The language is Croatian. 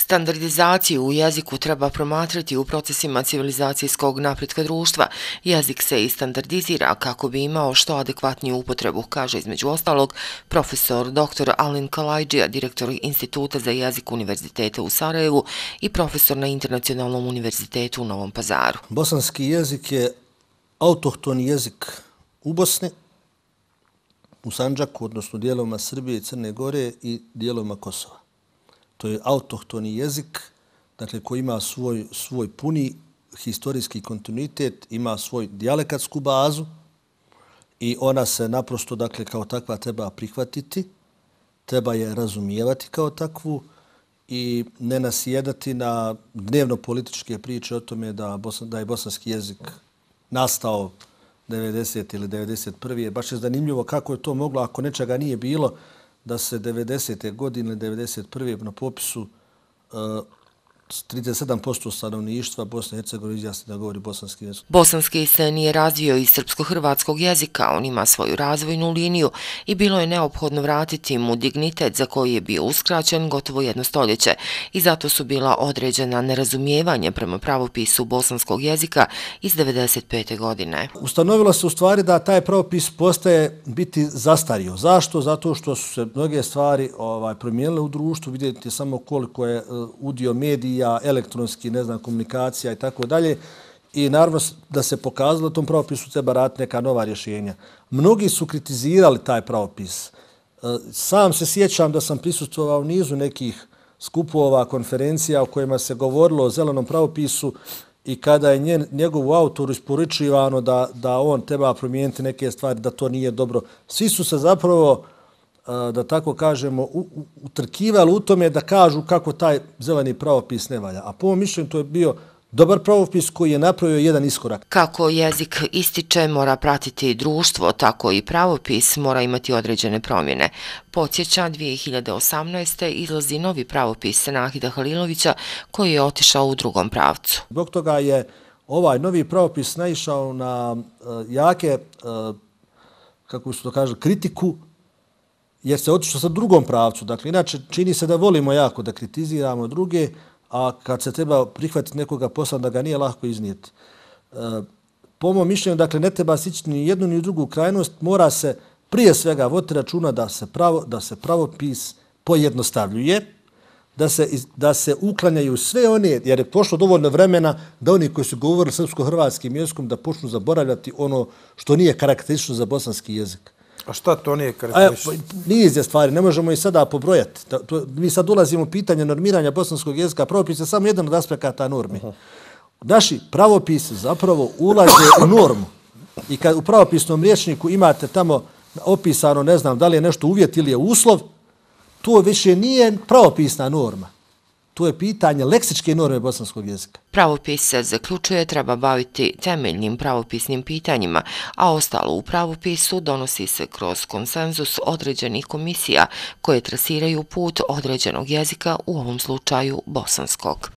Standardizaciju u jeziku treba promatrati u procesima civilizacijskog napretka društva. Jezik se i standardizira kako bi imao što adekvatniju upotrebu, kaže između ostalog profesor dr. Alen Kalajdžija, direktor Instituta za jezik Univerziteta u Sarajevu i profesor na Internacionalnom univerzitetu u Novom Pazaru. Bosanski jezik je autohtoni jezik u Bosni, u Sandžaku, odnosno dijelovima Srbije i Crne Gore i dijelovima Kosova. To je autohtoni jezik, dakle, koji ima svoj puni historijski kontinuitet, ima svoj dijalektsku bazu i ona se naprosto, dakle, kao takva treba prihvatiti, treba je razumijevati kao takvu i ne nasjedati na dnevno-političke priče o tome da je bosanski jezik nastao 90. ili 91. Baš je zanimljivo kako je to moglo, ako nečega nije bilo, da se 90. godine ili 91. na popisu 37% stanovništva Bosne i Hercegovine izjasni da govori bosanski jezik. Bosanski se nije razvio iz srpsko-hrvatskog jezika, on ima svoju razvojnu liniju i bilo je neophodno vratiti mu dignitet za koji je bio uskraćen gotovo jedno stoljeće i zato su bila određena nerazumijevanja prema pravopisu bosanskog jezika iz 95. godine. Ustanovilo se u stvari da taj pravopis postaje biti zastario. Zašto? Zato što su se mnoge stvari promijenile u društvu, vidjeti samo koliko je udio medija, elektronski, komunikacija i tako dalje. I naravno da se pokazalo tom pravopisu treba raditi neka nova rješenja. Mnogi su kritizirali taj pravopis. Sam se sjećam da sam prisustvovao nizu nekih skupova, konferencija u kojima se govorilo o zelenom pravopisu i kada je njegovu autoru isporučivano da on treba promijeniti neke stvari, da to nije dobro. Svi su se zapravo, da tako kažemo, utrkivali u tome da kažu kako taj zeleni pravopis ne valja. A po mom mišljenju to je bio dobar pravopis koji je napravio jedan iskorak. Kako jezik ističe, mora pratiti društvo, tako i pravopis mora imati određene promjene. Podsjeća, 2018. izlazi novi pravopis Nahida Halilovića koji je otišao u drugom pravcu. Zbog toga je ovaj novi pravopis naišao na jake, kako se to kaže, kritiku, jer se otišlo sa drugom pravcu. Dakle, inače, čini se da volimo jako da kritiziramo druge, a kad se treba prihvatiti nekoga posla, da ga nije lako iznijeti. Po mom mišljenju, dakle, ne treba sići ni jednu ni drugu krajnost, mora se prije svega voditi računa da se pravopis pojednostavljuje, da se uklanjaju sve one, jer je prošlo dovoljno vremena da oni koji su govorili srpsko-hrvatskim jezikom da počnu zaboravljati ono što nije karakteristično za bosanski jezik. A šta to nije karakteristično? Niz je stvari, ne možemo i sada pobrojati. Mi sad ulazimo u pitanje normiranja bosanskog jezika, pravopis je samo jedan od aspekata normi. Naši pravopisi zapravo ulaze u normu. I kad u pravopisnom rječniku imate tamo opisano, ne znam, da li je nešto uvjet ili je uslov, to više nije pravopisna norma. To je pitanje leksičke norme bosanskog jezika. Pravopis se zaključuje treba baviti temeljnim pravopisnim pitanjima, a ostalo u pravopisu donosi se kroz konsenzus određenih komisija koje trasiraju put određenog jezika, u ovom slučaju bosanskog.